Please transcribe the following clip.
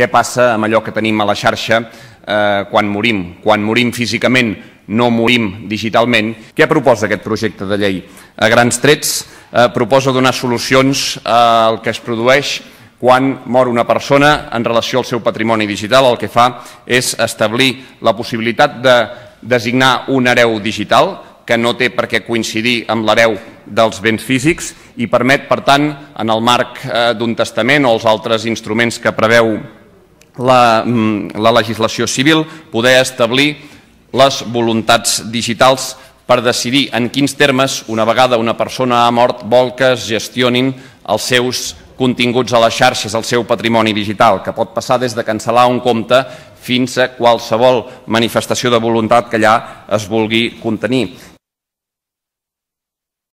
Què passa amb allò que tenim a la xarxa quan morim? Quan morim físicament, no morim digitalment. Què proposa aquest projecte de llei? A grans trets, proposa donar solucions al que es produeix quan mor una persona en relació al seu patrimoni digital. El que fa és establir la possibilitat de designar un hereu digital que no té per què coincidir amb l'hereu dels béns físics i permet, per tant, en el marc d'un testament o els altres instruments que preveu la legislació civil, poder establir les voluntats digitals per decidir en quins termes, una vegada una persona ha mort, vol que es gestionin els seus continguts a les xarxes, el seu patrimoni digital, que pot passar des de cancel·lar un compte fins a qualsevol manifestació de voluntat que allà es vulgui contenir.